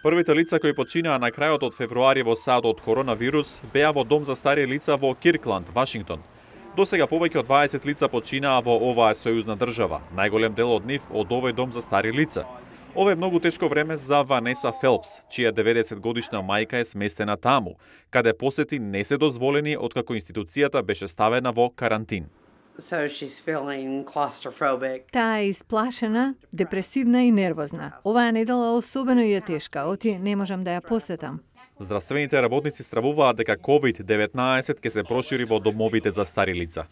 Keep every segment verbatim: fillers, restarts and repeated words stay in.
Првите лица кои починаа на крајот од февруари во САД од коронавирус беа во дом за стари лица во Киркланд, Вашингтон. Досега повеќе од дваесет лица починаа во оваа сојузна држава, најголем дел од нив од овој дом за стари лица. Ова е многу тешко време за Ванеса Фелпс, чија деветдесет годишна мајка е сместена таму, каде посети не се дозволени откако институцијата беше ставена во карантин. So she's feeling claustrophobic. Таа е исплашена, депресивна и нервозна. Оваа недела особено ја тешка, оти не можам да ја посетам. Здравствените работници стравуваат дека ковид деветнаесет ќе се прошири во домовите за стари лица.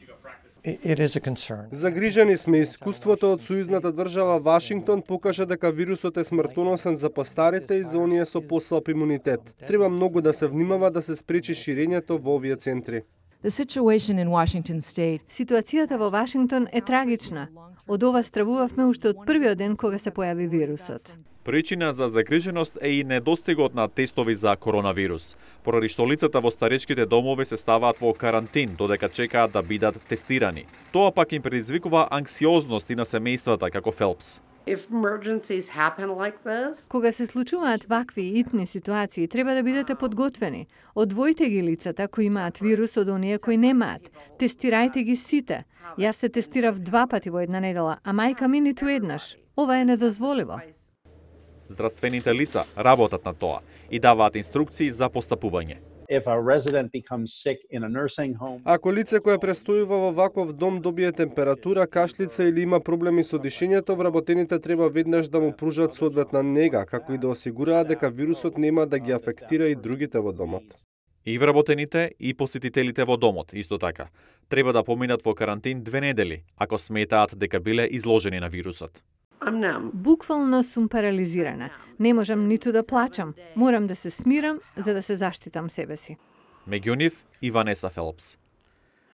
Загрижени сме. Искуството од сојузната држава Вашингтон покажа дека вирусот е смртоносен за постарите и за оние со послаб имунитет. Треба многу да се внимава да се спречи ширењето во овие центри. The situation in Washington state. Ситуацијата во Вашингтон е трагична. Од ова стравувавме уште од првиот ден кога се појави вирусот. Причина за загриженост е и недостигот на тестови за коронавирус, поради што лицата во старечките домови се ставаат во карантин додека чекаат да бидат тестирани. Тоа пак им предизвикува анксиозност и на семејствата како Фелпс. If emergencies happen like this, Кога се случуваат вакви итни ситуации, треба да бидете подготвени. Одвојте ги лицата кои имаат вирус од оние кои немаат. Тестирајте ги сите. Јас се тестирав два пати во една недела, а мајка ми ниту еднаш. Ова е недозволиво. Здравствените лица работат на тоа и даваат инструкции за постапување. If a resident becomes sick in a nursing home, Ако лице кое престојува во ваков дом добие температура, кашлица или има проблеми со дишењето, вработените треба веднаш да му пружат соодветна нега, како и да осигураат дека вирусот нема да ги афектира и другите во домот. И вработените и посетителите во домот, исто така, треба да поминат во карантин две недели, ако сметаат дека биле изложени на вирусот. I'm numb. Буквално сум парализирана. Не можам ниту да плачам. Морам да се смирам за да се заштитам себе си. Меѓу нив и Ванеса Фелпс.